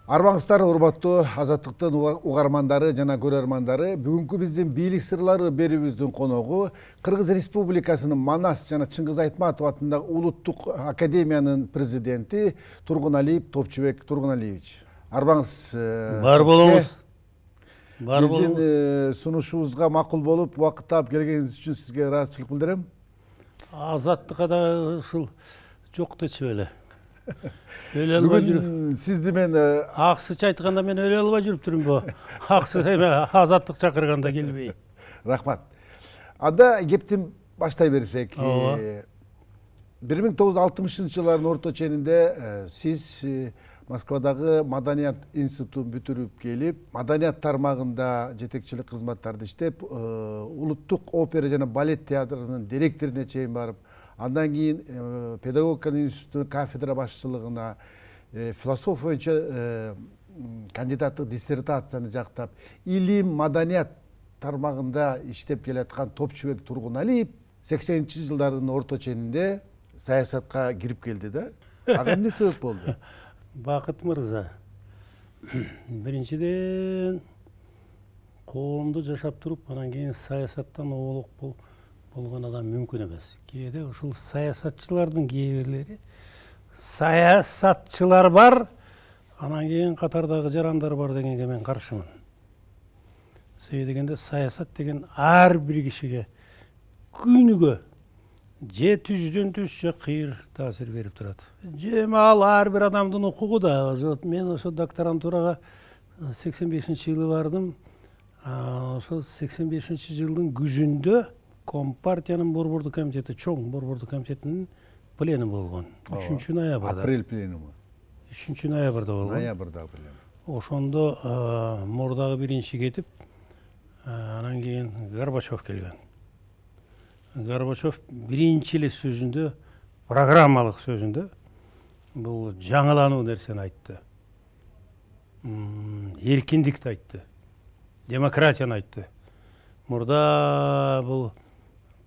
Арбаңыздар урматтуу Азаттыктын угармандары жана көрөрмандары, бүгүнкү биздин бийлик сырлары берүүбүздүн коногу Кыргыз Республикасынын Манас жана Чыңгыз Айтматов атындагы Улуттук академиянын президенти Тургуналиев Топчубек Тургуналиевич. Арбаңыз бар болуңуз. Биздин сунушубузга макул болуп, убакыт таап келгениңиз үчүн сизге ыраазычылык билдирем. Азаттыкка да ушул жок дечү эле. Бүгүн сизди мен аксыч айтканда мен өлө албай жүрүп турумбу? Аксы эме азаттык чакырганда келбей. Рахмат. Анда кепти баштай берсек. 1960-жылдардын орто ченинде сиз Москвадагы Маданият институтун бүтүрүп келип, маданият тармагында жетекчилик кызматтарды иштеп, Улуттук опера жана балет театрынын директоруна чейин барып, андан кийин педагогика институтунун кафедра башчылыгына, философия боюнча кандидаттык диссертацияны жактап, илим, маданият тармагында иштеп келаткан Топчубек Тургуналиев 80-жылдардын орто ченинде саясатка кирип келди да. Ага эмне себеп болду? Бакыт мырза, биринчиден коомду жашап туруп, анан кийин саясаттан оолук болгон адам мүмкүн эмес. Кээде ушул саясатчылардын кээ бирлери саясатчылар бар, анан кийин катардагы жарандар бар дегенге мен каршымын. Себеби дегенде саясат деген ар бир кишиге күнүгө же түздөн түз же кыйыр таасир берип турат. Же ал ар бир адамдын укугу да. Мен ошо докторантурага 85-жылы бардым. Ошо 85-жылдын күзүндө Компартиянын борбордук комитети, чоң борбордук комитетинин пленуми болгон. 3-ноябрда. Апрель пленуми. 3-ноябрда болгон. Ноябрда пленум. Ошондо мурдагы биринчи кетип, анан кийин Горбачев келген. Горбачев биринчи эле сөзүндө, программалык сөзүндө бул жаңылануу нерсени айтты. Эркиндикти айтты. Демократияны айтты.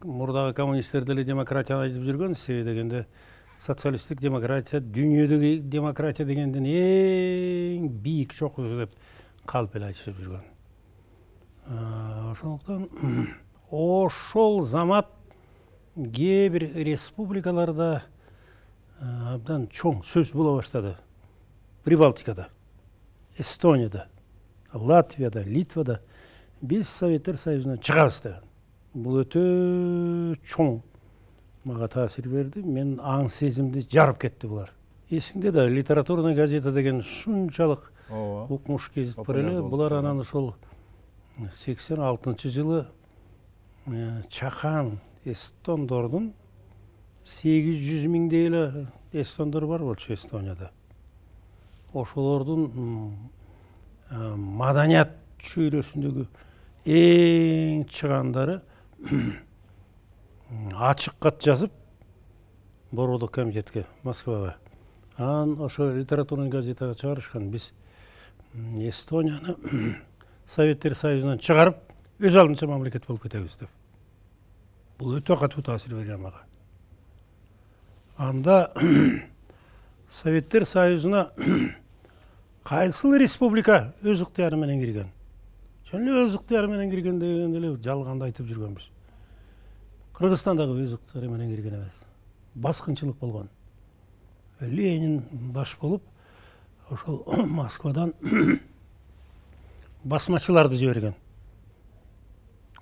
Мурдагы коммунисттер деле демократияны айтып жүргөн, себеби дегенде социалисттик демократия дүйнөдөгү демократия дегенден эң бийик чокусу деп калп эле айтышып жүргөн. Ошондуктан ошол замат кээ бир республикаларда абдан чоң сөз боло баштады. Прибалтикада, Эстонияда, Латвияда, Литвада биз Советтер Союзунан чыгабыз деген. Бул өтө чоң мага таасир берди. Мен аң сезимди жарып кетти булар. Эсиңде да литературный газета деген шунчалык укмуш кезит бар эле. Булар анан ошол 86-жылы чакан эстондордун 800 миңдей эле эстондор бар болчу Эстонияда. Ошолордун маданият чөйрөсүндөгү эң чыгандары ачык кат жазып борбордук комитетке, Москвага. Анан ошо литературный газетага чыгарышкан. Биз Эстонияны Советтер Союзунан чыгарып, өз алдынча мамлекет болуп кетебиз деп. Бул өтө катуу таасир берген мага. Анда Советтер Союзуна кайсыл республика өз ыктыяры менен кирген? Жөн эле өз ыктыяры менен кирген деген эле жалганды айтып жүргөнбүз. Кыргызстан дагы өз ыктыяры менен кирген эмес. Баскынчылык болгон. Ленин баш болуп, ошол Москвадан басмачыларды жиберген.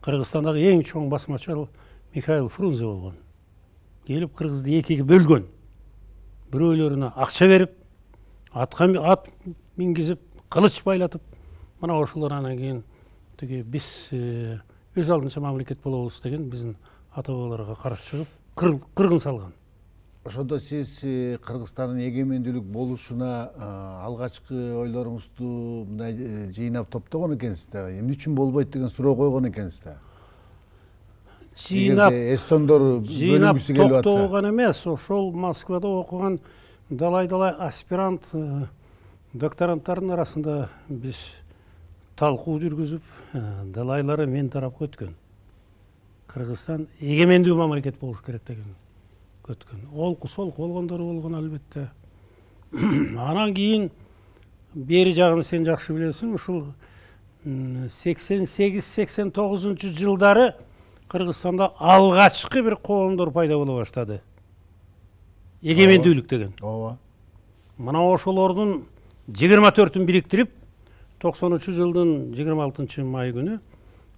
Кыргызстандагы эң чоң басмачы Михаил Фрунзе болгон. Келип кыргызды экиге бөлгөн. Бирөөлөрүнө акча берип, ат мингизип, кылыч байлатып, мына ошолор анан кийин тиги биз өз алдынча мамлекет болобуз деген биздин ата-бабаларга каршы чыгып кыргын салган. Ошондо сиз Кыргызстандын эгемендүүлүк болушуна алгачкы ойлоруңузду мындай жыйнап топтогон экенсиз да. Эмне үчүн болбойт деген суроо койгон экенсиз да. Жыйнап эстондор бөлүнгүсү келип атса. Топтогон эмес, ошол Москвада окуган далай аспирант докторанттардын арасында биз талкуу жүргүзүп, далайлары мен тарапка өткөн. Кыргызстан эгемендүү мамлекет болуш керек деген өткөн. Олку солку болгондору болгон албетте. Анан кийин бери жагын сен жакшы билесиң. Ушул 88-89 жылдары Кыргызстанда алгачкы бир коомдор пайда боло баштады. Эгемендүүлүк деген. Ооба. Мына ошолордун 24-ін бириктирип, 90 жылдын 26 май күнү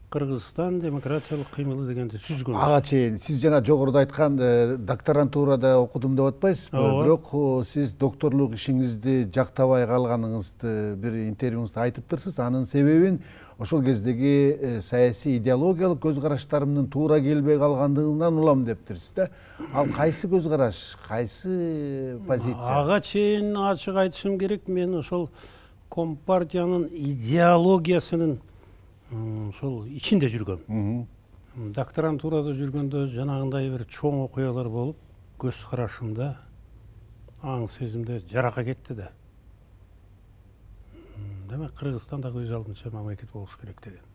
Кыргызстан демократиялык кыймылы дегенди түзгөн. Ага чейин сиз жана жогоруда айткан докторантурада окудум деп атпайсызбы? Бирок сиз докторлук ишиңизди жактабай калганыңызды бир интервьюңузда айтыптырсыз. Анын себебин ошол кездеги саясий идеологиялык көз караштарымдын туура келбей калгандыгынан улам дептирсиз да. Ал кайсы көз караш, кайсы позиция? Ага чейин ачык айтышым керек, мен ошол Компартиянын идеологиясынын ошол ичинде жүргөм. Докторантурада жүргөндө жанагындай бир чоң окуялар болуп, көз карашымда, аң сезимде жарака кетти да. Демек Кыргызстанда өз алдынча мамлекет болуш керек деген.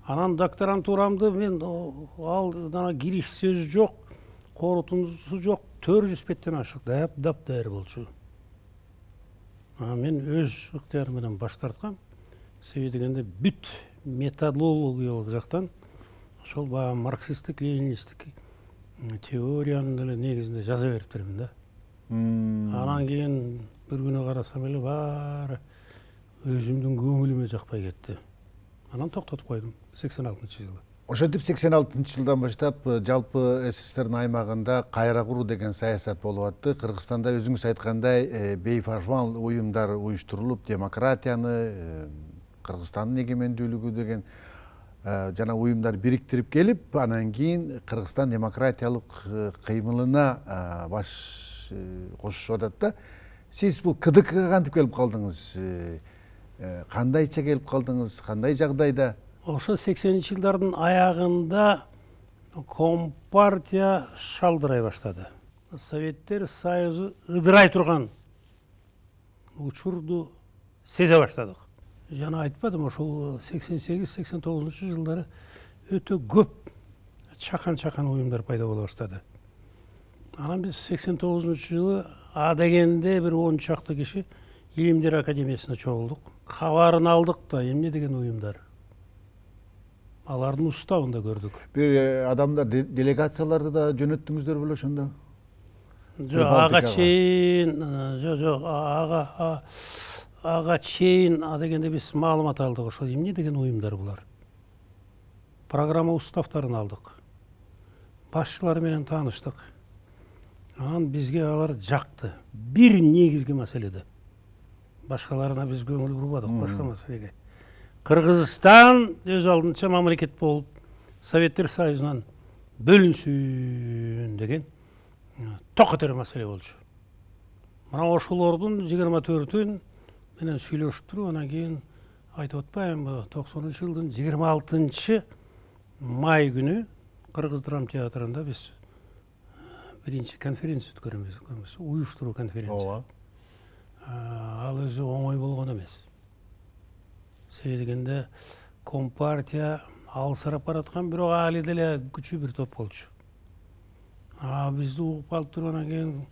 Анан докторантурамды мен ал кириш сөзү жок, корутундусу жок, 400 беттен ашык дап-дайыр болчу. Мен өз ыктыярым менен баш тарткам. Себеби дегенде бүт методологиялык жактан ошол баягы марксисттик, ленинисттик теориянын эле негизинде жаза бериптермин да. Анан кийин бир күнү карасам эле баары өзүмдүн көңүлүмө жакпай кетти. Анан токтотуп койдум 86-жылы. Ошентип 86-жылдан баштап жалпы СССРдин аймагында кайра куруу деген саясат болуп атты. Кыргызстанда өзүңүз айткандай бейфарман уюмдар уюштурулуп, демократияны, Кыргызстандын эгемендүүлүгү деген жана уюмдар бириктирип келип, анан кийин Кыргызстан демократиялык кыймылына баш кошушуп атат да. Сиз бул КДКга кантип келип калдыңыз? Кандайча келип калдыңыз? Кандай жагдайда? Ошо 80-жылдардын аягында Компартия шалдырай баштады. Советтер Союзу ыдырай турган учурду сезе баштадык. Жана айтпадым, ошол 88-89 жылдары өтө көп чакан уюмдар пайда боло баштады. Анан биз 89 жылы А дегенде бир 10 чакты киши Илимдер академиясына чогулдук. Кабарын алдык да, эмне деген уюмдар. Алардын уставында көрдүк. Бир адамдар делегацияларды да жөнөттүңүздөр беле ошондо? Жок, ага чейин, ага чейин дегенде биз маалымат алдык. Ошо эмне деген уюмдар булар? Программа уставтарын алдык. Башчылары менен тааныштык. Анан бизге алар жакты. Бир негизги маселеде. Башкаларына биз көңүл бурбадык, башка маселеге. Кыргызстан өз алдынча мамлекет болуп, Советтер Союзунан бөлүнсүн деген токотер маселе болчу. Мына ошолордун 24-ün менен сүйлөшүп туруп, анан кийин айтып атпаймынбы, 90-жылдын 26 май күнү Кыргыз драма театрында биз биринчи конференция өткөрөбүз, уюштуруу конференция. Ал өзү оңой болгон эмес. Себеби дегенде Компартия алсырап бараткан, бирок али деле күчүү бир топ болчу. Бизди угуп калып тургандан кийин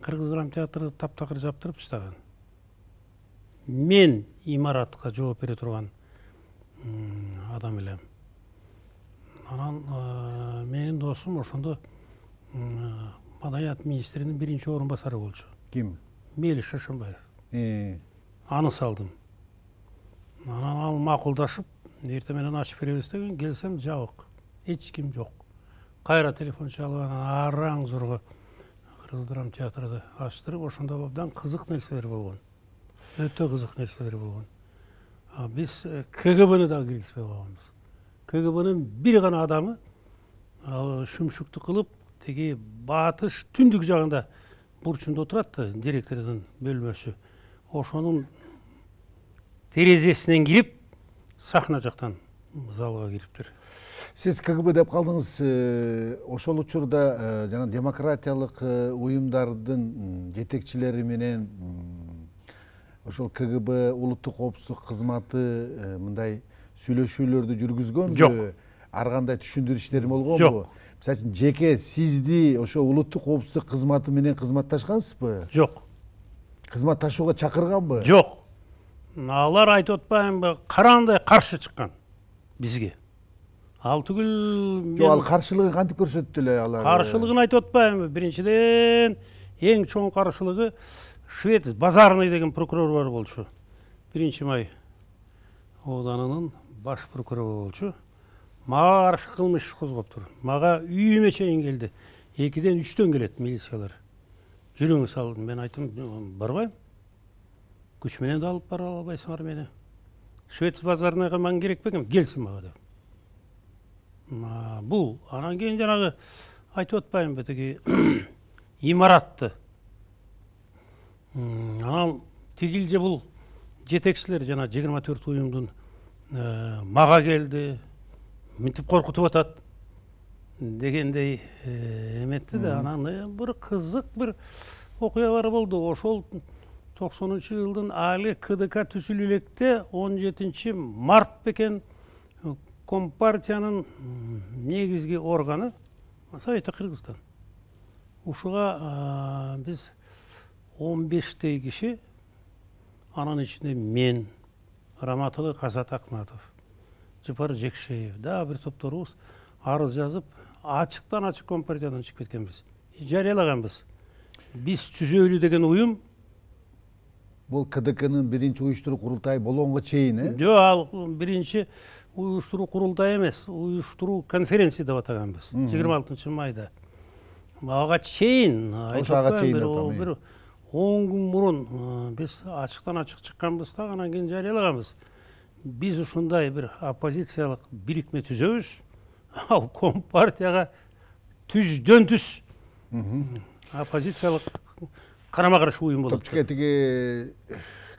Кыргыз драма театры таптакыр жаптырып таштаган. Мен имаратка жооп бере турган адам элем. Анан менин досум ошондо Маданият министринин биринчи орун басары болчу. Ким? Мелис Шашынбаев. Аны салдым. Анан ал макулдашып, эртең менен ачып беребиз деген, келсем жабык. Эч ким жок. Кайра телефон чалып, анан араң зурга Кыргыз драма театрды ачтырып, ошондо абдан кызык нерселер болгон. Өтө кызык нерселер болгон. Биз КГБны да киргизбей койгонбуз. КГБнын бир гана адамы ал шүмшүктү кылып, тиги батыш түндүк жагында бурчунда отурат да, директордун бөлмөсү. Ошонун терезесинен кирип, сахна жактан залга кириптир. Сиз КГБ деп калдыңыз. Ошол учурда жана демократиялык уюмдардын жетекчилери менен ошол КГБ улуттук коопсуздук кызматы мындай сүйлөшүүлөрдү жүргүзгөнбү? Жок. Ар кандай түшүндүрүштөр болгонбу? Жок. Мисалы үчүн жеке сизди ошо улуттук коопсуздук кызматы менен кызматташкансызбы? Жок. Кызматташууга чакырганбы? Жок. алар айтып атпаймынбы, караандай каршы чыккан бизге. Ал түгүл Жок, ал каршылыгын кантип көрсөттү эле алар? Каршылыгын айтып атпаймынбы. Биринчиден эң чоң каршылыгы Швец Базарный деген прокурор бар болчу. 1-май ауданынын баш прокурору болчу. Мага каршы кылмыш козгоптур. Мага үйүмө чейин келди. 2-ден 3-төн келет милициялар. Жүрүңүз ал. Мен айттым, барбайм. Күч менен да алып бара албайсыңар мени. Швец Базарныйга мага керек бекен, келсин мага деп. Бул анан кийин жанагы айтып атпаймынбы, тиги имаратты. Анан тигилже бул жетекчилер жана 24 уюмдун мага келди, мынтип коркутуп атат дегендей эметти да. Анан бир кызык бир окуялар болду. Ошол 90-жылдын али КДК түзүлө электе 17 март бекен Компартиянын негизги органы Совет Кыргызстан. Ушуга биз 15 киши, анын ичинде мен, Раматылы Казат Акматов, Жапар Жекшеев, дагы бир топторубуз арыз жазып, ачыктан ачык Компартиядан чыгып кеткенбиз. Жарыялаганбыз. Биз түзөлү деген уюм. Бул КДКнын биринчи уюштуруу курултайы болгонго чейин, Жок, ал биринчи уюштуруу курултай эмес, уюштуруу конференция деп атаганбыз. 26 майда. Ага чейин, бир 10 күн мурун биз ачыктан ачык чыкканбыз да, анан кийин жарыялаганбыз. Биз ушундай бир оппозициялык бирикме түзөбүз. Ал Компартияга түздөн түз оппозициялык карама-каршы уюм болот. Топчука тиги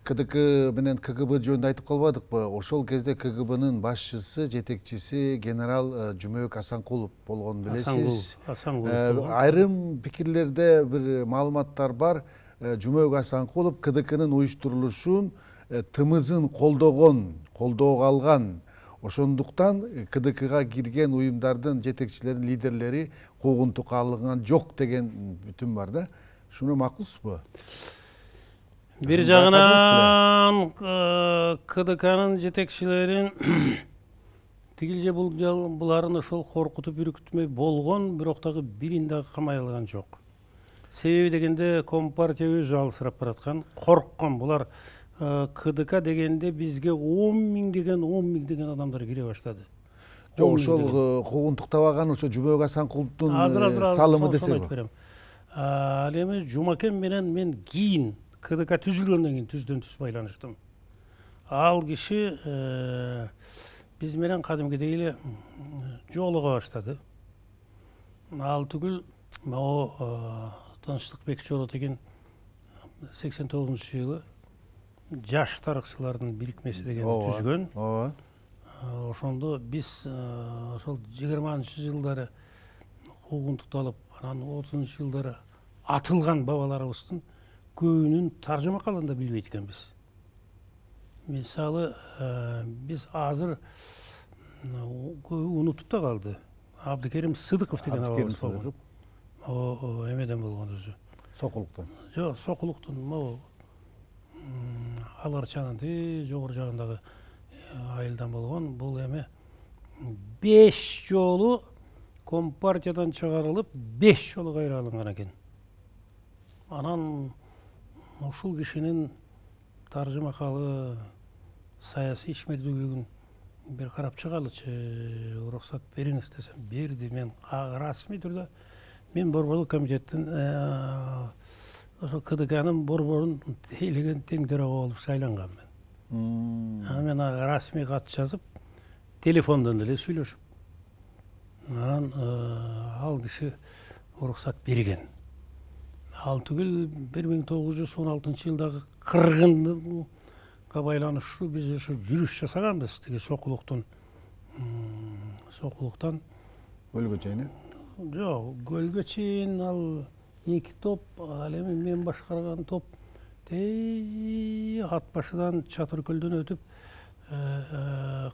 КДК менен КГБ жөнүндө айтып калбадыкпы? Ошол кезде КГБнын башчысы, жетекчиси генерал Жумабек Асанкулов болгонун билесиз. Айрым пикирлерде бир маалыматтар бар. Жумабек Асанкулов КДКнын уюштурулушун тымызын колдоого алган. Ошондуктан КДКга кирген уюмдардын жетекчилеринин лидерлери куугунтукка алынган жок деген бүтүм бар да. Шуну макулсузбу? Бир жагынан КДКнын жетекчилерин тигилже буларын ошол коркутуп үркүтмөй болгон, бирок дагы бирин дагы камай алган жок. Себеби дегенде Компартия өзү алысырап бараткан, корккон. Булар КДК дегенде бизге 10 000 деген адамдар кире баштады. Жок, ошол куугунтуктабаган ошо Жумабек Асанкуловдун салымы десеби. Ал эми Жумакен менен мен кийин КДК түзүлгөндөн кийин түздөн түз байланыштым. Ал киши биз менен кадимкидей эле жолуга баштады. Ал түгүл могу Тынчтыкбек Чоло деген 89-жылы жаш тарыхчылардын бирикмеси дегенди түзгөн. Ошондо биз ошол 20-жылдары куугунтукталып, анан 30-жылдары атылган бабаларыбыздын көбүнүн таржыма калганда билбейт экенбиз. Мисалы, биз азыр унутуп да калды. Абдыкерим Сыдыков деген абабыз болгон. Эмеден болгон өзү. Сокулуктан. Жок, Сокулуктун могу Аларчанын жогору жагындагы айылдан болгон. Бул эми 5 жолу Компартиядан чыгарылып, 5 жолу кайра алынган экен. Анан ушул кишинин таржымакалы саясий ишмердүүлүгүн бир карап чыгалычы, уруксат бериңиз десем, берди. Мен расмий түрдө мен борборлук комитеттин ошо КДКнын борборун тейлеген тең төрага болуп шайланганмын. Мен расмий кат жазып, телефондон деле сүйлөшүп, анан ал киши уруксат берген. Ал түгүл 1916-жылдагы кыргынга байланыштуу биз ошо жүрүш жасаганбыз. Тиги Сокулуктан Көлгө чейин. Жок, Көлгө чейин ал 2 топ, ал эми мен башкарган топ ат башыдан Чатыркөлдөн өтүп,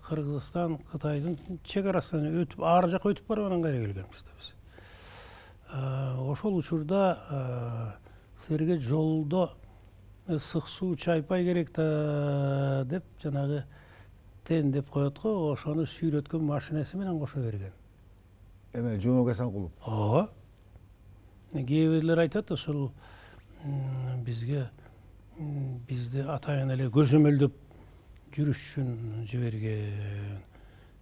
Кыргызстан, Кытайдын чек арасынан өтүп, ар жакка өтүп барып анан кайра келгенбиз да биз. Ошол учурда силерге жолдо ысык суу чайпай керек да деп жанагы тен деп коет го, ошону сүйрөткөн машинеси менен кошо берген. Эме Жомок Асанкулов. Ооба. Кээ бирлер айтат ошол бизди атайын эле көзөмөлдөп жүрүш үчүн жиберген.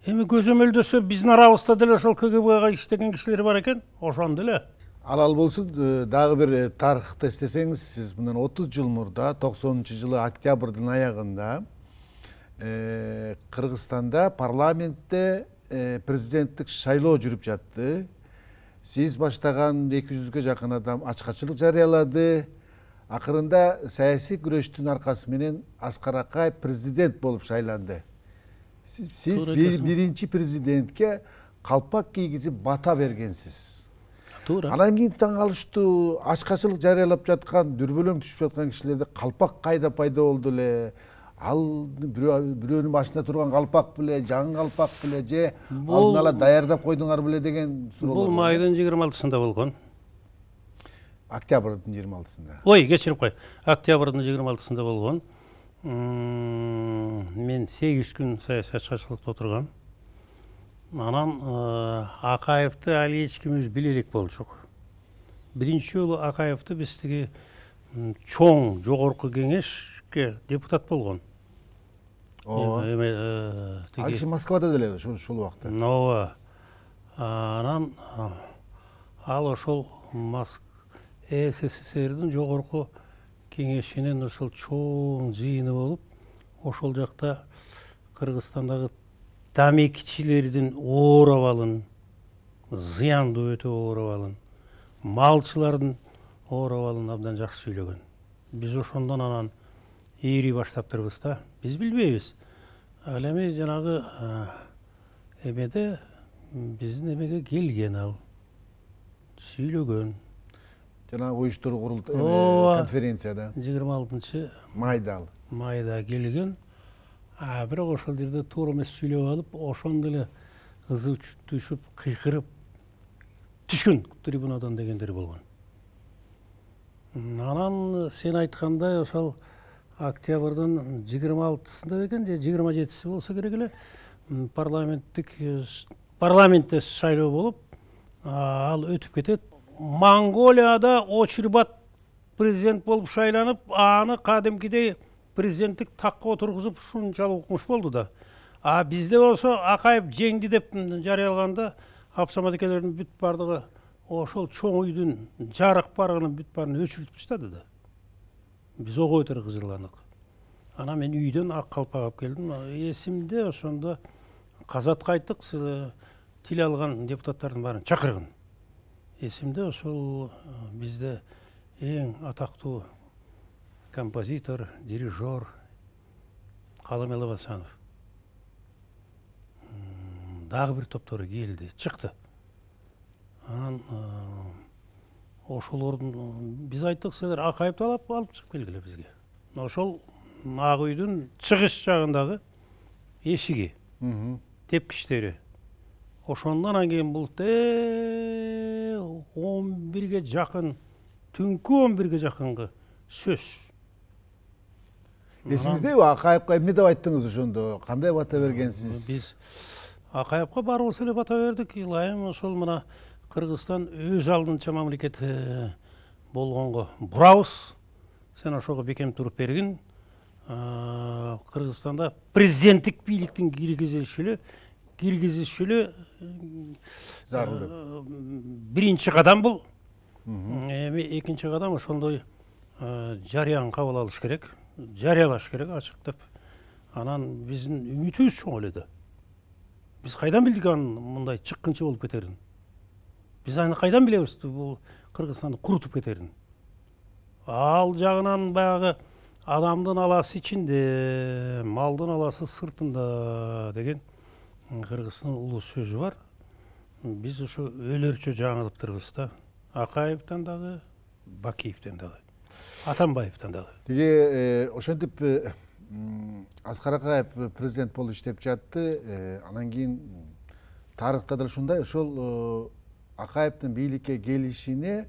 Эми көзөмөлдөсө биздин арабызда деле ошол КГБга иштеген кишилер бар экен, ошондо эле. Ал болсун, дагы бир тарыхты эстесеңиз, сиз мындан 30 жыл мурда 90-жылы октябрдын аягында Кыргызстанда парламентте президенттик шайлоо жүрүп жатты. Сиз баштаган 200-гө жакын адам ачкачылык жарыялады. Акырында саясий күрөштүн аркасы менен Аскар Акаев президент болуп шайланды. Сиз биринчи президентке калпак кийгизип бата бергенсиз. Туура. Анан кийин таң калыштуу, ачкачылык жарыялап жаткан, дүрбөлөң түшүп жаткан кишилерде калпак кайда пайда болду эле? Ал бирөөнүн башында турган калпак беле, жаңы калпак беле, же алдын ала даярдап койдуңар беле деген суроолор. Бул майдын 26-сында болгон. Октябрдын 26-сында. Ой, кечирип кой. Октябрдын 26-сында болгон. Мен 8 күн саясатчылыкта отургам. Анан Акаевди али эч кимибиз биле элек болчук. Биринчи жолу Акаевди биз тиги чоң жогорку кеңешке депутат болгон. Ал киши Москвада деле ушул убакта. Ооба. Анан ал ошол СССРдин жогорку кеңешинин ошол чоң жыйыны болуп, ошол жакта Кыргызстандагы тамекичилердин оор абалын, зыяндуу өтө оор абалын, малчылардын оор абалын абдан жакшы сүйлөгөн. Биз ошондон анан ээри баштаптырбыз да. Биз билбейбиз. Ал эми жанагы эмеде биздин эмеге келген ал, сүйлөгөн. Жанагы уюштуруу курултаю конференцияда 26-майда келген. Бирок ошол жерде туура эмес сүйлөп алып, ошондо эле ызы түшүп, кыйкырып түшкөн трибунадан дегендер болгон. Анан сен айткандай ошол октябрдын 26-сында экен, же 27-си болсо керек эле, парламентте шайлоо болуп, ал өтүп кетет. Монголияда Очурбат президент болуп шайланып, аны кадимкидей президенттик такка отургузуп ушунчалык укмуш болду да. Бизде болсо Акаев жеңди деп жарыялаганда Абсамат экелердин бүт бардыгы ошол чоң үйдүн жарык барыгынын бүт баарын өчүрүп таштады да. Биз ого өтөр кыжырландык. Анан мен үйдөн ак калпак алып келдим. Эсимде ошондо казатка айттык, тил алган депутаттардын баарын чакыргын. Эсимде ошол бизде эң атактуу композитор, дирижер Калым Элебасанов дагы бир топтору келди, чыкты. Анан ошолордун биз айттык, силер Акаевди алып чыгып келгиле бизге. Ошол ак үйдүн чыгыш жагындагы эшиги, тепкичтери. Ошондон кийин бул 11-ге жакын, түнкү 11-ге жакынкы сөз. Эсиңиздеби, Акаевка эмне деп айттыңыз ошондо? Кандай бата бергенсиз? Биз Акаевка баарыбыз эле бата бердик. Илайым, ошол мына Кыргызстан өз алдынча мамлекет болгонго бурабыз. Сен ошого бекем туруп бергин. Кыргызстанда президенттик бийликтин киргизишүлө зарыл. Биринчи кадам бул. Эми экинчи кадам ошондой жарыян кабыл алыш керек, жарыялаш керек ачык деп. Анан биздин үмүтүбүз чоң эле да. Биз кайдан билдик анын мындай чыккынчы болуп кетерин? Биз аны кайдан билебиз бул Кыргызстанды курутуп кетерин? Ал жагынан баягы адамдын аласы ичинде, малдын аласы сыртында деген Кыргыздын улуу сөзү бар. Биз ушу өлөрчө жаңылыптырбыз да. Акаевден дагы, Бакиевден дагы, Атамбаевден дагы. Тиги ошентип Аскар Акаев президент болуп иштеп жатты. Анан кийин тарыхта да ушундай, ошол Акаевдин бийликке келишине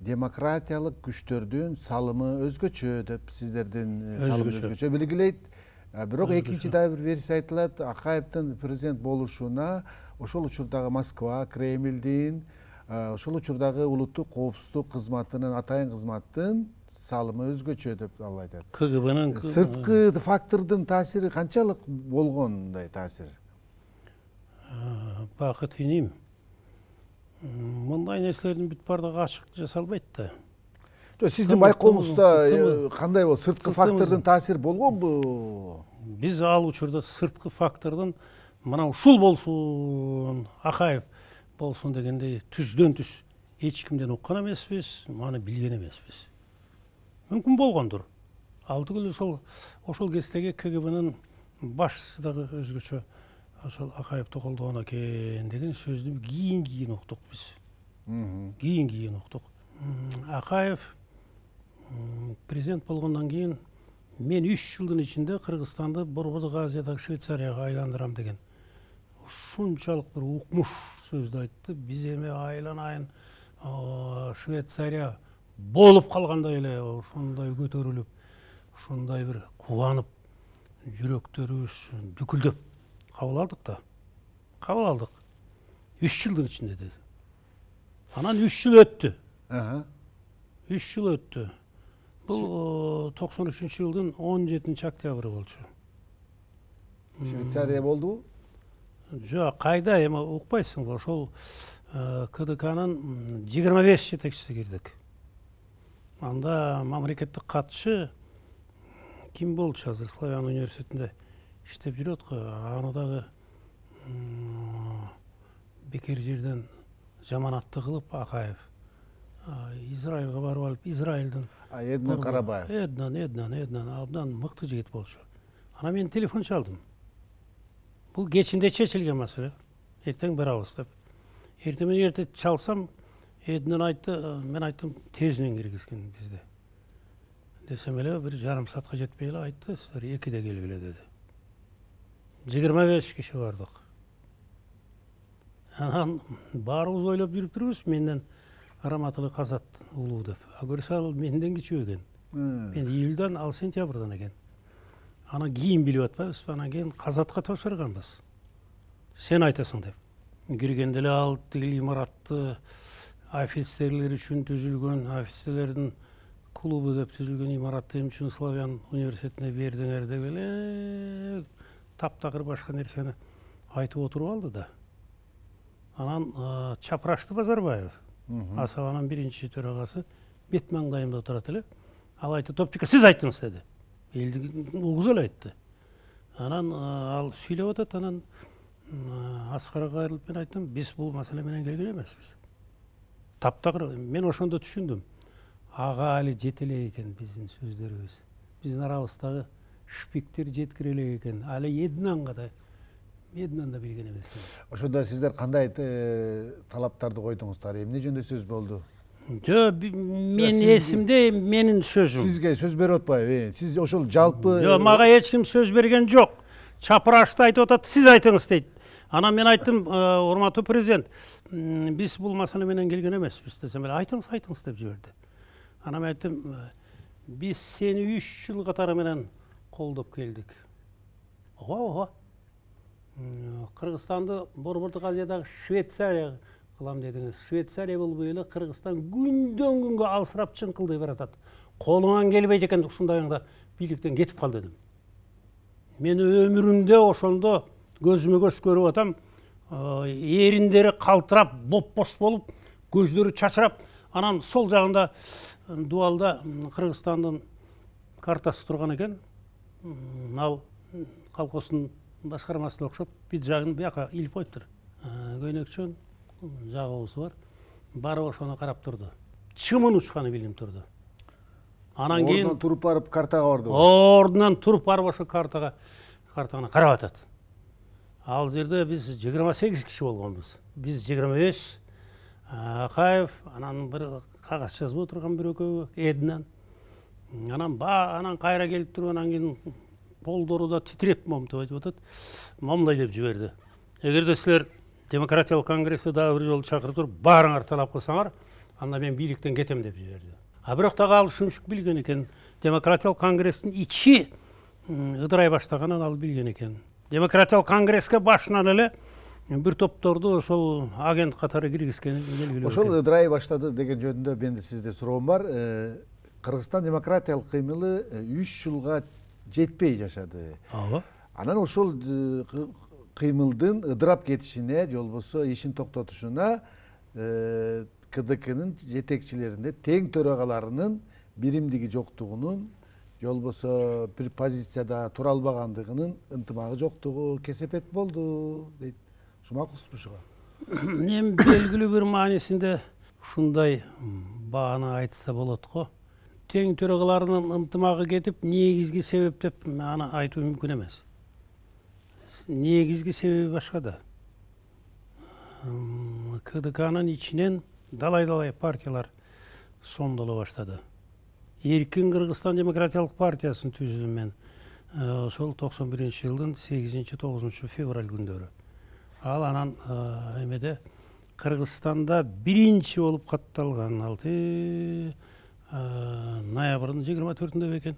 демократиялык күчтөрдүн салымы өзгөчө деп сиздердин салымы өзгөчө белгилейт. Бирок экинчи дагы бир версия айтылат, Акаевдин президент болушуна ошол учурдагы Москва, Кремлдин, ошол учурдагы улуттук коопсуздук кызматынын, атайын кызматтын салымы өзгөчө деп ал айтат. КГБнын сырткы фактордун таасири канчалык болгон мындай таасир? Бакыт иним, мындай нерселердин бүт бардыгы ачык жасалбайт да. Сиздин байкоомузда кандай болду? Сырткы фактордун таасири болгонбу? Биз ал учурда сырткы фактордун мына ушул болсун, Акаев болсун дегендей түздөн түз эч кимден уккан эмеспиз, маны билген эмеспиз. Мүмкүн болгондур. Ал түгүл ошол кездеги КГБнын башчысы дагы өзгөчө ошол Акаевди колдогон экен деген сөздү кийин уктук биз. Кийин уктук. Акаев президент болгондон кийин мен 3 жылдын ичинде Кыргызстанды Борбордук Азиядагы Швейцарияга айландырам деген ушунчалык бир укмуш сөздү айтты. Биз эми айланайын Швейцария болуп калгандай эле ошондой көтөрүлүп, ушундай бир кубанып, жүрөктөрүбүз дүкүлдөп кабыл алдык да. Кабыл алдык. 3 жылдын ичинде деди. Анан 3 жыл өттү. 3 жыл өттү. Бул 93-жылдын 17 октябры болчу. Швейцария болдубу? Жок, кайда эми укпайсыңбы? Ошол КДКнын 25 жетекчиси кирдик. Анда мамлекеттик катчы ким болчу? Азыр Славян университетинде иштеп жүрөт го. Аны дагы бекер жерден жаманатты кылып Акаев Израилга барып алып, Израилдин Эднан Карабаев. Эднан абдан мыкты жигит болчу. Ана мен телефон чалдым. Бул кечинде чечилген маселе. Эртең барабыз деп. Эртең чалсам, Эднан айтты, мен айттым, тезинен киргизген бизде. Десем эле бир жарым саатка жетпей эле айтты, силер 2-де келгиле деди. 25 киши бардык. Анан баарыбыз ойлоп жүрүп турбуз, менден Раматылы Казат улуу деп. Көрсө ал менден кичүү экен. Мен июлдан, ал сентябрдан экен. Анан кийин билип атпайбыз, анан кийин Казатка тапшырганбыз. Сен айтасың деп. Киргенде эле ал тиги имаратты офицерлер үчүн түзүлгөн, офицерлердин клубу деп түзүлгөн имаратты эмне үчүн Славян университетине бердиңер деп эле таптакыр башка нерсени айтып отуруп алды да. Анан Чапрашты Базарбаев, Асабанын биринчи төрагасы, бет маңдайымда отурат эле. Ал айтты, топчука, сиз айттыңыз деди. Элди угуз эле айтты. Анан ал сүйлөп атат, анан Аскарга кайрылып мен айттым, биз бул маселе менен келген эмеспиз. Таптакыр мен ошондо түшүндүм. Ага али жете элек экен биздин сөздөрүбүз. Биздин арабыздагы шпиктер жеткире элек экен. Али Эднанга да билген эмес экен. Ошондо сиздер кандай талаптарды койдуңуздар? Эмне жөнүндө сөз болду? Жок, мен эсимде менин сөзүм. Сизге сөз берип атпайбы? Сиз ошол жалпы Жок, мага эч ким сөз берген жок. Чапрашты айтып атат, сиз айтыңыз дейт. Анан мен айттым, урматтуу президент, биз бул маселе менен келген эмеспиз десем эле, айтыңыз деп жиберди. Анан мен айттым, биз сени 3 жыл катары менен колдоп келдик. Ого. Кыргызстанды Борбордук Азиядагы Швейцария кылам дедиңиз. Швейцария болбой эле Кыргызстан күндөн күнгө алсырап чыңкылдай баратат. Колуңан келбейт экен, ушундайыңда бийликтен кетип кал дедим. Мен өмүрүмдө ошондо көзүмө көз көрүп атам, эриндери калтырап, бопбос болуп, көздөрү чачырап, анан сол жагында дуалда Кыргызстандын картасы турган экен. Ал колхоздун башкармасына окшоп, бит жагын бияка илип коюптур. Көйнөкчөн жагыбызы бар. Барып ошону карап турду. Чымын учканы билинип турду. Анан кийин ордунан туруп барып картага барды. Ордунан туруп барып ошо картаны карап атат. Ал жерде биз 28 киши болгонбуз. Биз 25, Акаев, анан бир кагаз жазып отурган бир экөө, Эднан. Анан кайра келип туруп, анан кийин полдору да титиреп момтоп айтып атат. Момдай деп жиберди. Эгерде силер демократиялык конгрессти дагы бир жолу чакырып туруп, баарыңар талап кылсаңар, анда мен бийликтен кетем деп жиберди. А бирок дагы ал шумшук билген экен, демократиялык конгресстин ичи ыдырай баштаганын ал билген экен. Демократиялык конгресске башынан эле бир топторду ошол агент катары киргизгени белгилүү. Ошол ыдырай баштады деген жөнүндө менде сизде суроом бар. Кыргызстан демократиялык кыймылы 3 жылга жетпей жашады. Ооба. Анан ошол кыймылдын ыдырап кетишине же болбосо ишин токтотушуна КДКнын жетекчилеринде тең төрагаларынын биримдиги жоктугунун же болбосо бир позицияда тура албагандыгынын ынтымагы жоктугу кесепет болду дейт. Макулсузбу ушуга? Эми белгилүү бир маанисинде ушундай бааны айтса болот го. Тең төрагаларынын ынтымагы кетип, негизги себеп деп аны айтуу мүмкүн эмес. Негизги себеби башкада. КДКнын ичинен далай партиялар сомдоло баштады. Эркин Кыргызстан демократиялык партиясын түзүдүм мен. Ошол 91-жылдын 8-9 февраль күндөрү. Ал анан эмеде Кыргызстанда биринчи болуп катталган 6 ноябрдын 24-ндө экен.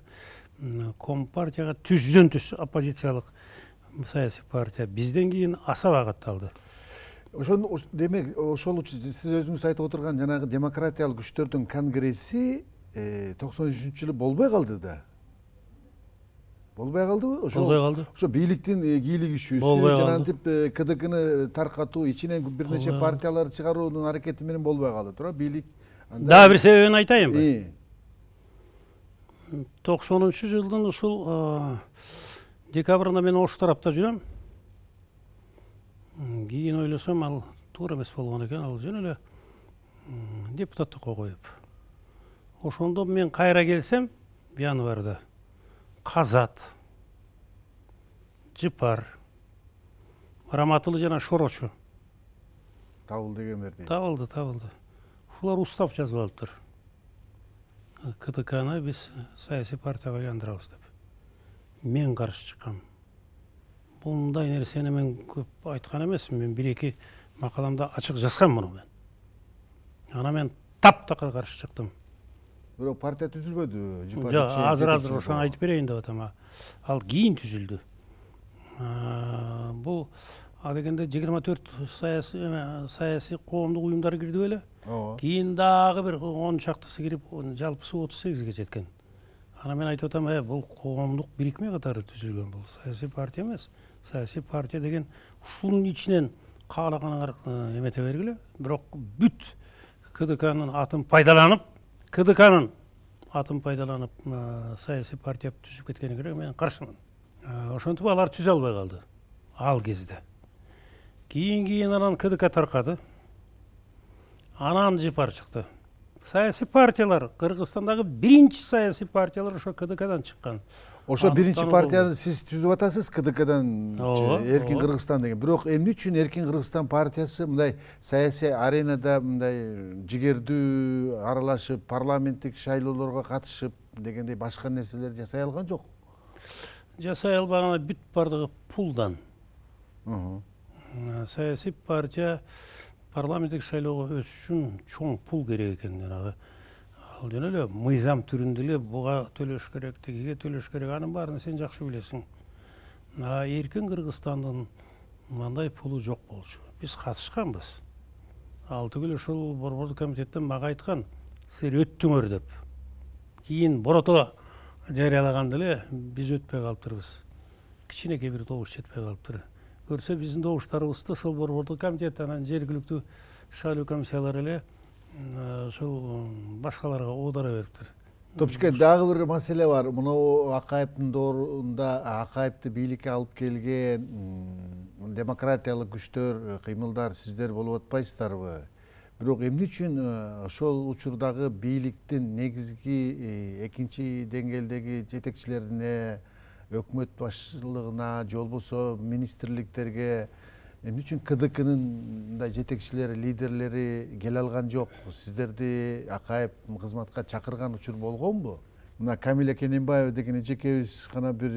Компартияга түздөн түз оппозициялык саясий партия бизден кийин асаба катталды. Демек, ошол сиз өзүңүз айтып отурган жанагы демократиялык күчтөрдүн конгресси 93-жылы болбой калды да. Болбой калдыбы? Болбой калды. Ошо бийликтин кийлигишүүсү жанагынтип КДКны таркатуу, ичинен бир нече партиялар чыгаруунун аракети менен болбой калды. Тура бийлик дагы бир себебин айтайынбы? 90-жылдын ушул декабрында мен Ош тарапта жүрөм. Кийин ойлосом, ал туура эмес болгон экен, ал жөн эле депутаттыкка коюп. Ошондо мен кайра келсем, январда Казат, Жыпар, Раматылы жана Шорочу табылды дегендер. Табылды. Ушулар устав жазып алыптыр. КДКны биз саясий партияга айландырабыз деп. Мен каршы чыккам. Мындай нерсени мен көп айткан эмесмин. Мен 1-2 макаламда ачык жазгам муну мен. Ана мен таптакыр каршы чыктым. Бирок партия түзүлбөдү. Жок, азыр ошону айтып берейин деп атам. Ал кийин түзүлдү. Бул дегенде 24 саясий коомдук уюмдар кирди беле? Кийин дагы бир 10 чактысы кирип, жалпысы 38ге жеткен. Ана мен айтып атам, бул коомдук бирикме катары түзүлгөн, бул саясий партия эмес. Саясий партия деген ушунун ичинен каалаганыңар эмете бергиле. Бирок бүт КДКнын атын пайдаланып, саясий партия түзүп кеткениге мен каршымын. Ошентип алар түзө албай калды ал кезде. Кийин анан КДК таркады. Анан Жыпар чыкты. Саясий партиялар, Кыргызстандагы биринчи саясий партиялар ошо КДКдан чыккан. Ошо биринчи партияны сиз түзүп атасыз, КДКдан Эркин Кыргызстан деген. Бирок эмне үчүн Эркин Кыргызстан партиясы мындай саясий аренада мындай жигердүү аралашып, парламенттик шайлоолорго катышып дегендей башка нерселер жасай алган жок? Жасай албаганы бүт бардыгы пулдан. Саясий партия парламенттик шайлоого өтүш үчүн чоң пул керек экен. Жанагы ал жөн эле мыйзам түрүндө эле буга төлөш керек, тигиге төлөш керек, анын баарын сен жакшы билесиң. Эркин Кыргызстандын мындай пулу жок болчу. Биз катышканбыз. Ал түгүл ошол борбордук комитеттен мага айткан, силер өттүңөр деп. Кийин борото жарыялаганда эле биз өтпөй калыптырбыз. Кичинекей бир добуш жетпей калыптыр. Көрсө биздин добуштарыбызды ошол борбордук комитет анан жергиликтүү шайлоо комиссиялары эле ошол башкаларга оодара бериптир. Топчуке, дагы бир маселе бар. Муну Акаевдин доорунда Акаевди бийликке алып келген демократиялык күчтөр, кыймылдар сиздер болуп атпайсыздарбы? Бирок эмне үчүн ошол учурдагы бийликтин негизги экинчи деңгээлдеги жетекчилерине, өкмөт башчылыгына, же болбосо министрликтерге эмне үчүн КДКнын мындай жетекчилери, лидерлери келе алган жок? Сиздерди Акаев кызматка чакырган учур болгонбу? Мына Камиля Кененбаева деген эжекебиз гана бир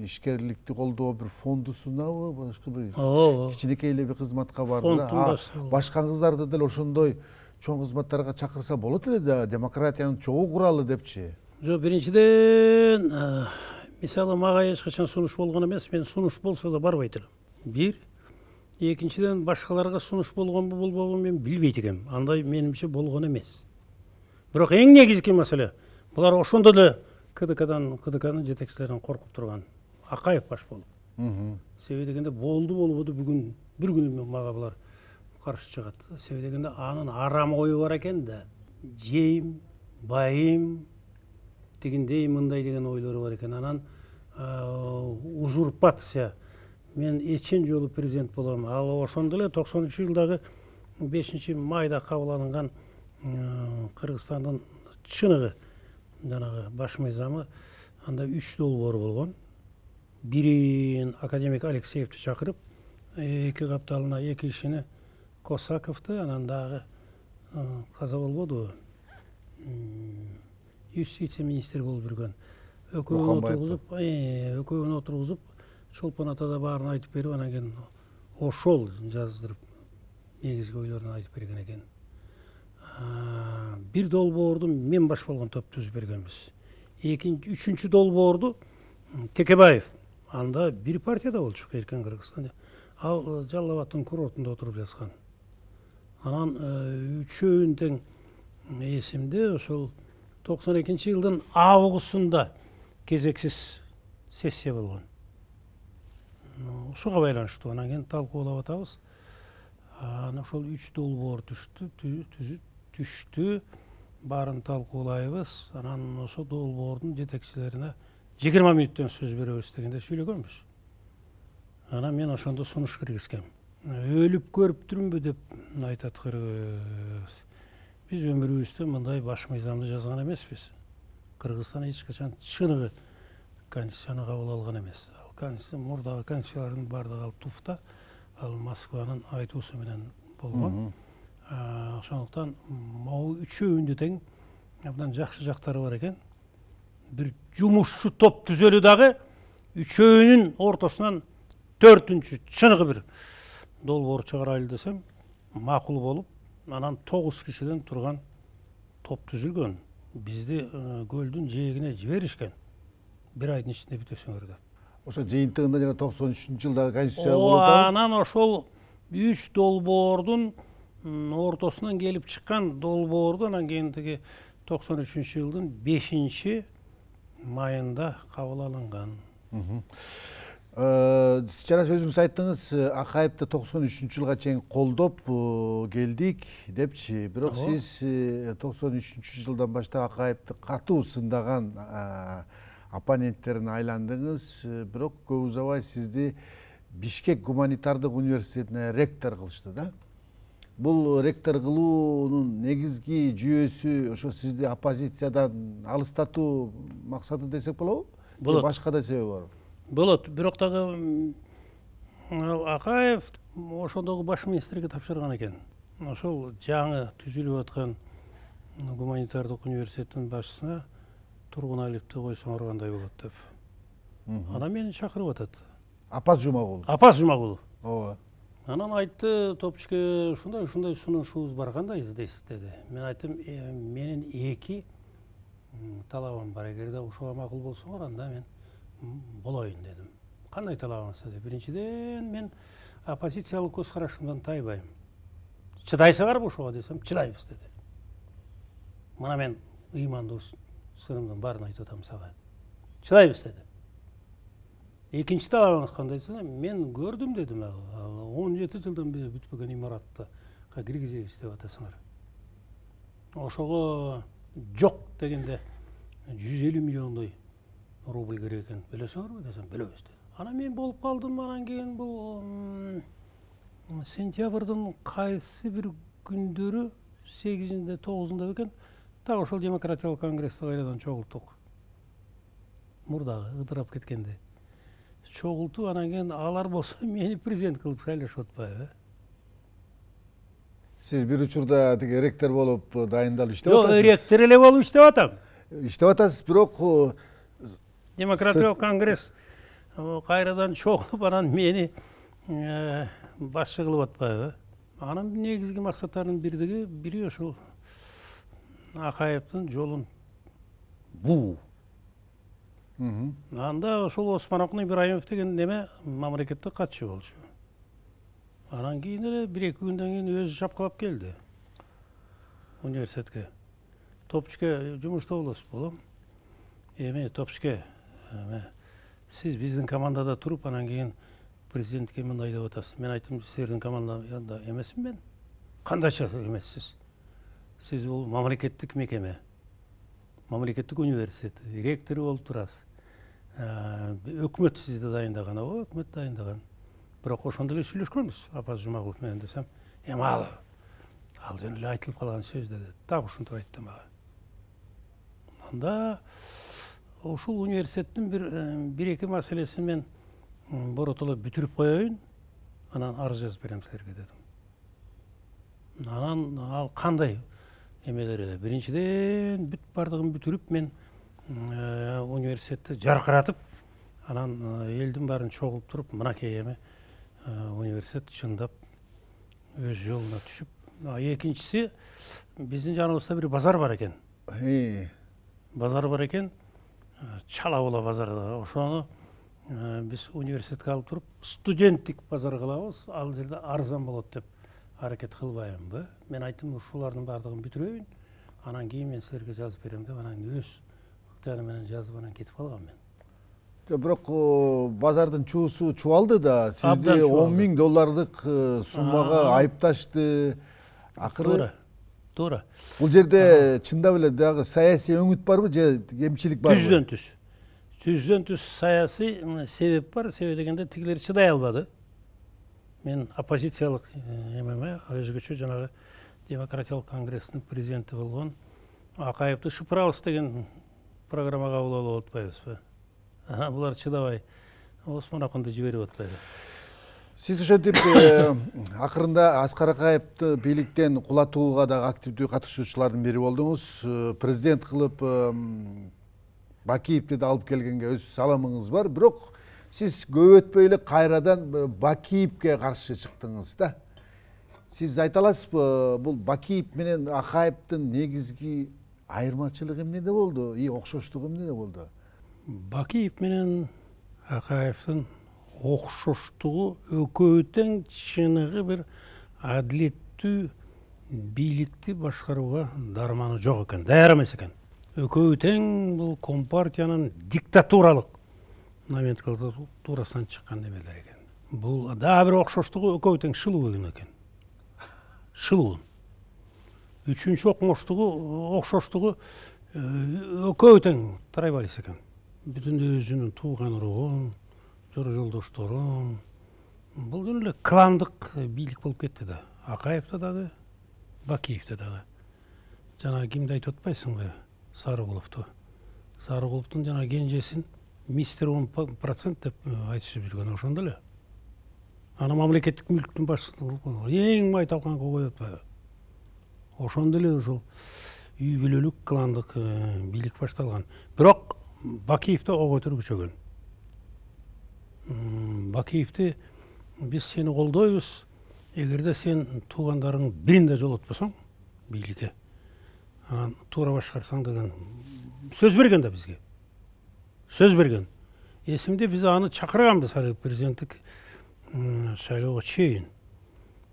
ишкерликти колдоо бир фондусунабы, башка бир кичинекей эле бир кызматка барды. Башка кыздарды деле ошондой чоң кызматтарга чакырса болот эле да, демократиянын чогуу куралы депчи. Жок, биринчиден мисалы мага эч качан сунуш болгон эмес, мен сунуш болсо да барбайт элем. Бир. Экинчиден башкаларга сунуш болгонбу болбогонун мен билбейт экенмин. Андай менимче болгон эмес. Бирок эң негизги маселе булар ошондо эле КДКнын жетекчилеринен коркуп турган. Акаев баш болуп. Себеби дегенде болбоду бүгүн бир күнү мага булар каршы чыгат. Себеби дегенде анын арам ою бар экен да. Жейм, байым дегендей мындай деген ойлору бар экен. Анан узурпация. Мен эчен жолу президент болом. Ал ошондо эле 93-жылдагы 5-майда кабыл алынган Кыргызстандын чыныгы жанагы баш мыйзамы, анда 3 долбоор болгон. Бирин академик Алексеевди чакырып, 2 капталына 2 кишини Косаковду, анан дагы каза болбодубу? Юстиция министри болуп жүргөн. Экөөнү отургузуп, Чолпон атада баарын айтып берип, анан кийин ошол жаздырып негизги ойлорун айтып берген экен. Бир долбоорду мен баш болгон топ түзүп бергенбиз. Үчүнчү долбоорду Текебаев, анда бир партияда болчу Эркен Кыргызстан. Ал Жалал Абадтын курортунда отуруп жазган. Анан үчөөүн тең эсимде, ошол 92-жылдын августунда кезексиз сессия болгон. Ушуга байланыштуу анан кийин талкуулап атабыз. Анан ошол 3 долбоор түштү, баарын талкуулайбыз. Анан ошол долбоордун жетекчилерине 20 мүнөттөн сөз беребиз дегенде сүйлөгөнбүз. Анан мен ошондо сунуш киргизгем. Өлүп көрүптүрмүнбү деп айтат Кыргыз. Биз өмүрүбүздө мындай баш мыйзамды жазган эмеспиз. Кыргызстан эч качан чыныгы конституцияны кабыл алган эмес. Ал конституция мурдагы конституциялардын баардыгы алып туфта, ал Москванын айтуусу менен болгон. Ошондуктан могу үчөөүндө тең абдан жакшы жактары бар экен. Бир жумушчу топ түзөлү дагы үчөөүнүн ортосунан 4-чү чыныгы бир долбоор чыгарайлы десем макул болуп, анан 9 кишиден турган топ түзүлгөн. Бизди көлдүн жээгине жиберишкен. Бир айдын ичинде бүтөсүңөр деп. Ошо жыйынтыгында жана 93-жылдагы конституция болуп атат. Анан ошол 3 долбоордун ортосунан келип чыккан долбоорду анан кийин тиги 93-жылдын 5-майында кабыл алынган. Жана өзүңүз айттыңыз, Акаевди 93-жылга чейин колдоп келдик депчи. Бирок сиз 93-жылдан баштап Акаевди катуу сындаган оппоненттерине айландыңыз. Бирок көп узабай сизди Бишкек гуманитардык университетине ректор кылышты да. Бул ректор кылуунун негизги жүйөсү ошо сизди оппозициядан алыстатуу максаты десек болобу? Болот. Башка да себеби бар. Болот. Бирок дагы Акаев ошондогу баш министрге тапшырган экен. Ошол жаңы түзүлүп аткан гуманитардык университеттин башчысына Тургуналиевди койсоңор кандай болот деп. Анан мени чакырып атат. Апас Жумагулов. Апас Жумагулов. Ооба. Анан айтты, топчке ушундай сунушубуз бар, кандай издейсиз деди. Мен айттым, менин 2 талабым бар. Эгерде ушуга макул болсоңор, анда мен болоюн дедим. Кандай талабыңыз деди? Биринчиден, мен оппозициялык көз карашымдан тайбайм. Чыдайсыңарбы ушуга десем, чыдайбыз деди. Мына мен ыймандуу сырымдын баарын айтып атам сага. Чыдайбыз деди. Экинчи талабыңыз кандай десем, мен көрдүм дедим, 17 жылдан бери бүтпөгөн имаратты киргизебиз деп атасыңар. Ошого жок дегенде 150 миллиондой рубль керек экен. Билесиңерби десем, билебиз деди. Анан мен болуп калдым, анан кийин бул сентябрдын кайсы бир күндөрү 8-inde 9-unda бекен, так ошол демократиялык конгрессти кайрадан чогулттук. Мурдагы ыдырап кеткенде. Чогултуп, анан кийин алар болсо мени президент кылып шайлашып атпайбы? Сиз бир учурда тиги ректор болуп дайындалып иштеп атасыз. Жок, ректор эле болуп иштеп атам. Иштеп атасыз, бирок демократиялык конгресс кайрадан чогулуп, анан мени башчы кылып атпайбы? Анын негизги максаттарынын бири ошол Акаевдин жолун буу. Анда ошол Осмон Ибраимов деген неме мамлекеттик катчы болчу. Анан кийин эле 1-2 күндөн кийин өзү чапкылап келди университетке. Топчке жумушта болосуз болом. Эме Топчке, сиз биздин командада туруп, анан кийин президентке мындай деп атасыз. Мен айттым, силердин командада эмесмин мен. Кандайча эмессиз? Сиз бул мамлекеттик мекеме, мамлекеттик университет, ректору болуп турасыз. Өкмөт сизди дайындаган, өкмөт дайындаган. Бирок ошондо эле сүйлөшкөнбүз Апаз Жумагулов менен десем, ал жөн эле айтылып калган сөз деди. Так ушинтип айтты мага. Анда ушул университеттин бир-эки маселесин мен боротоло бүтүрүп коеюн, анан арыз жазып берем силерге дедим. Анан ал кандай эмелер эле? Биринчиден бүт бардыгын бүтүрүп мен университетти жаркыратып, анан элдин баарын чогулуп туруп, мынакей эме университет чындап өз жолуна түшүп. Экинчиси, биздин жаныбызда бир базар бар экен. Базар бар экен, Чала Була базары. Ошону биз университетке алып туруп, студенттик базар кылабыз, ал жерде арзан болот деп аракет кылбайбынбы? Мен айттым, ушулардын баардыгын бүтүрөйүн, анан кийин мен силерге жазып берем деп, анан өз ыктыярым менен жазып анан кетип калгам мен. Бирок базардын чуусу чубалды да, сизди $10,000 суммага айыпташты. Акыры туура. Бул жерде чындап эле дагы саясий өңүт барбы же кемчилик барбы? Түздөн түз саясий себеп бар. Себеби дегенде тигилер чыдай албады. Мен оппозициялык эмеме, өзгөчө жанагы демократиялык конгресстин президенти болгон Акаевди шыпырабыз деген программага кабыл алып атпайбызбы? Булар чыдабай Осмон Акунду жиберип атпайбы? Сиз ошентип акырында Аскар Акаевди бийликтен кулатууга дагы активдүү катышуучулардын бири болдуңуз. Президент кылып Бакиевди да алып келгенге өз саламыңыз бар. Бирок сиз көп өтпөй эле кайрадан Бакиевге каршы чыктыңыз да. Сиз айта аласызбы, бул Бакиев менен Акаевдин негизги айырмачылыгы эмнеде болду? Окшоштугу эмнеде болду? Бакиев менен Акаевдин окшоштугу экөөү тең чыныгы бир адилеттүү бийликти башкарууга дарманы жок экен, даяр эмес экен. Экөөү тең бул Компартиянын диктатуралык номенклатурасынан чыккан эмелер экен. Бул дагы бир окшоштугу экөөү тең шылуу экен. Шылуу. Үчүнчү окшоштугу экөөү тең трайбалист экен. Бүтүн өзүнүн тууган уругун, жора жолдошторун. Бул жөн эле кландык бийлик болуп кетти да. Акаевде дагы, Бакиевде дагы. Жана кимди айтып атпайсыңбы? Сарыгуловду. Сарыгуловдун жана кенжесин мистер 10% деп айтышып жүргөн ошондо эле. Аны мамлекеттик мүлктүн башчысы кылып койгон. Эң майталканга коюп атпайбы? Ошондо эле ошол үй бүлөлүк кландык бийлик башталган. Бирок Бакиевди ого көтөрүп күчөгөн. Бакиевди биз сени колдойбуз, эгерде сен туугандарың биринде жолотпосоң бийликке, анан туура башкарсаң деген сөз берген да бизге. Сөз берген. Эсимде биз аны чакырганбыз ал президенттик шайлоого чейин.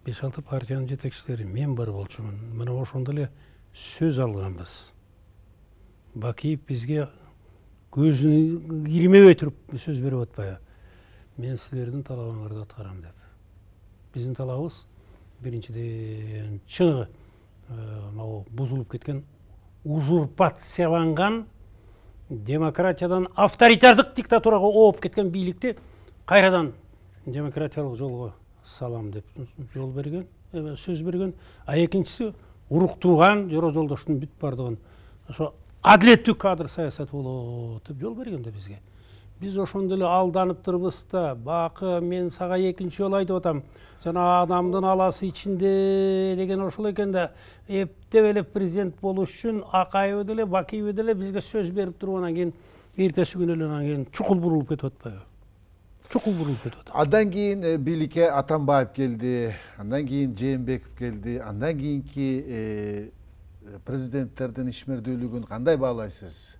5-6 партиянын жетекчилери мен бар болчумун. Мына ошондо эле сөз алганбыз. Бакиев бизге көзүн кирмебей туруп сөз берип атпайбы? Мен силердин талабыңарды аткарам деп. Биздин талабыбыз биринчиден чыныгы могу бузулуп кеткен, узурпацияланган, демократиядан авторитардык диктатурага ооп кеткен бийликти кайрадан демократиялык жолго салам деп жол берген, сөз берген. А экинчиси уруктууган жора жолдоштун бүт бардыгын ошо адилеттүү кадр саясаты болот деп жол берген да бизге. Биз ошондо эле алданыптырбыз да, бакы мен сага экинчи жолу айтып атам, жана адамдын аласы ичинде деген ошол экен да, эптеп эле президент болуш үчүн Акаев деле, Бакиев деле бизге сөз берип туруп, анан кийин эртеси күнү эле анан кийин чукул бурулуп кетип атпайбы? чукул бурулуп кетип атат. Андан кийин бийликке Атамбаев келди, андан кийин Жээнбеков келди, андан кийинки президенттердин ишмердүүлүгүн кандай баалайсыз?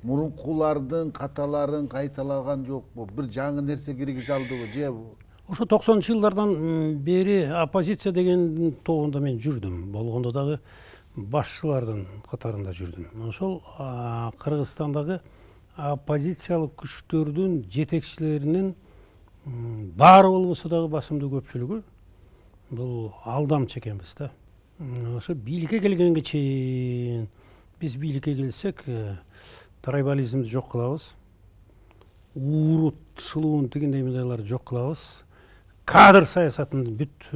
Мурункулардын каталарын кайталаган жокпу? Бир жаңы нерсе киргизе алдыбы же? Ошо 90-жылдардан бери оппозиция деген тобунда мен жүрдүм. Болгондо дагы башчылардын катарында жүрдүм. Ошол Кыргызстандагы оппозициялык күчтөрдүн жетекчилеринин баары болбосо дагы басымдуу көпчүлүгү бул алдамчы экенбиз да. Ошо бийликке келгенге чейин биз бийликке келсек трайбализмди жок кылабыз, уурут, шылуун тигиндей мындайларды жок кылабыз, кадр саясатын бүт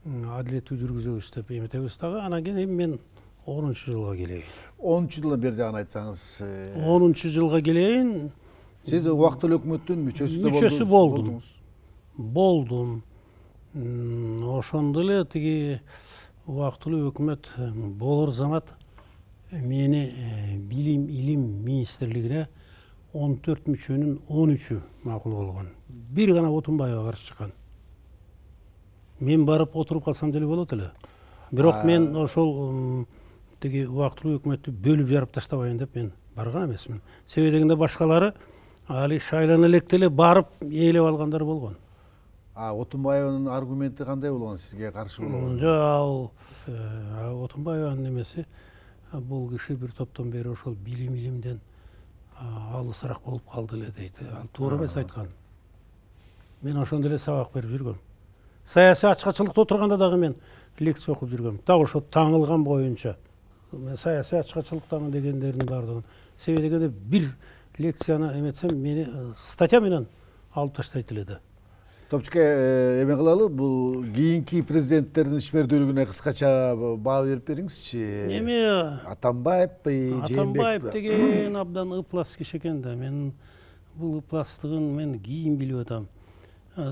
адилеттүү жүргүзөбүз деп эметебиз дагы. Анан кийин мен 10-жылга келейин. 10-жылдан бери жагын айтсаңыз. 10-жылга келейин. Сиз убактылуу өкмөттүн мүчөсү болдум. Ошондо эле тиги убактылуу өкмөт болор замат мени билим илим министрлигине 14 мүчөнүн 13-ү макул болгон. Бир гана Отунбаева каршы чыккан. Мен барып отуруп калсам деле болот эле. Бирок мен ошол тиги убактылуу өкмөттү бөлүп жарып таштабайын деп мен барган эмесмин. Себеби дегенде башкалары али шайлана электе эле барып ээлеп алгандар болгон. Отунбаеванын аргументи кандай болгон сизге каршы болгон? Ал Отунбаеванын эмеси бул киши бир топтон бери ошол билим илимден алысыраак болуп калды эле дейт. Ал туура эмес айткан. Мен ошондо эле сабак берип жүргөм. Саясий ачкачылыкта отурганда дагы мен лекция окуп жүргөм. Так ошо таңылган боюнча. Мен саясий ачкачылыктамын дегендердин баардыгын. Себеби дегенде бир лекцияны эметсем мени статья менен алып таштайт эле да. Топчука эме кылалы, бул кийинки президенттердин ишмердүүлүгүнө кыскача баа берип бериңизчи. Эми Атамбаевпи, Жээнбековпи? Атамбаев деген абдан ыплас киши экен да. Мен бул ыпластыгын мен кийин билип атам.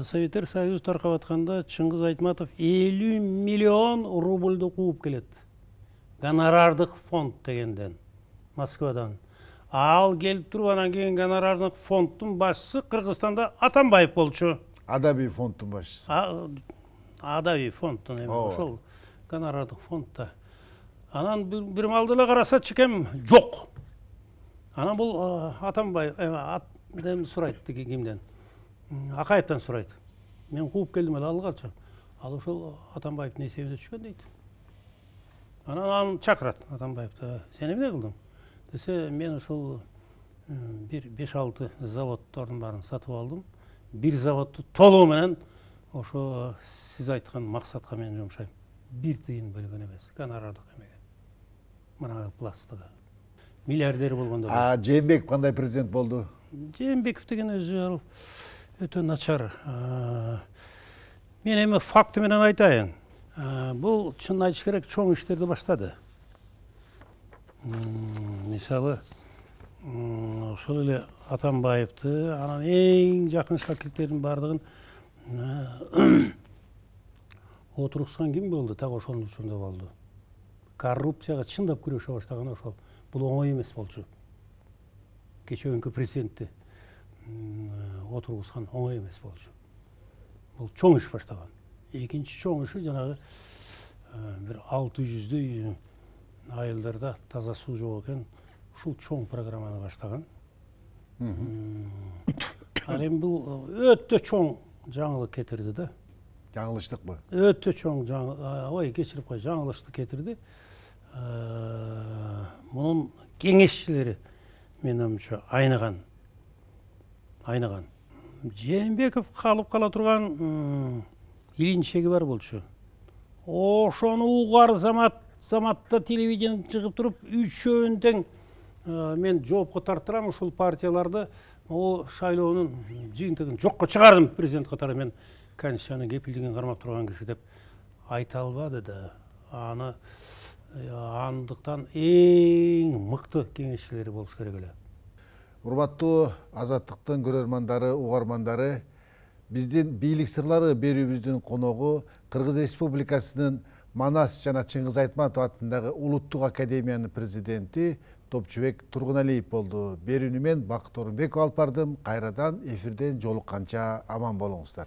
Советтер Союзу таркап атканда Чыңгыз Айтматов 50 миллион рубльду кууп келет. Гонорардык фонд дегенден, Москвадан. Ал келип туруп анан кийин гонорардык фонддун башчысы Кыргызстанда Атамбаев болчу. Адабий фонддун башчысы. Адабий фонддун эми ошол гонорардык фондда. Анан бир маалда эле караса чекем жок. Анан бул Атамбаев эме сурайт тиги кимден? Акаевден сурайт. Мен кууп келдим эле алгалчы. Ал ошол Атамбаевдин эсебине түшкөн дейт. Анан аны чакырат Атамбаевди. Сен эмне кылдың? Десе, мен ошол бир 5-6 заводдордун баарын сатып алдым. Бир заводду толугу менен ошо сиз айткан максатка мен жумшайм. Бир тыйын бөлгөн эмес, гонорардык эмеге. Мына пластыгы. Миллиардер болгондо. Жээнбеков кандай президент болду? Жээнбеков деген өзү өтө начар. Мен эми факты менен айтайын. Бул чын айтыш керек, чоң иштерди баштады. Мисалы, ошол эле Атамбаевди, анан эң жакын шакирттердин баардыгын отургузган ким болду? Так ошонун учурунда болду. Коррупцияга чындап күрөшө баштаган ошол. Бул оңой эмес болчу. Кечээкүнкү президентти отургузган оңой эмес болчу. Бул чоң иш баштаган. Экинчи чоң иши жанагы бир 600дөй айылдарда таза суу жок экен. Ушул чоң программаны баштаган. Ал эми бул өтө чоң жаңылык кетирди да. Жаңылыштыкпы? Өтө чоң ой, кечирип кой, жаңылыштык кетирди. Мунун кеңешчилери менин оюмча айнаган. Жээнбеков калып кала турган илинчеги бар болчу. Ошону угар заматта телевидение чыгып туруп, үчөөнүн тең мен жоопко тарттырам ушул партияларды, шайлоонун жыйынтыгын жокко чыгардым президент катары. Мен Конституциянын кепилдигин кармап турган киши деп айта албады да. Андыктан эң мыкты кеңешчилери болуш керек эле. Урматтуу Азаттыктын көрөрмандары, угармандары, биздин бийлик сырлары берүүбүздүн коногу Кыргыз Республикасынын Манас жана Чыңгыз Айтматов атындагы Улуттук академиянын президенти Топчубек Тургуналиев болду. Берүүнү мен Бакыт Орунбеков алып бардым. Кайрадан эфирден жолукканча аман болуңуздар.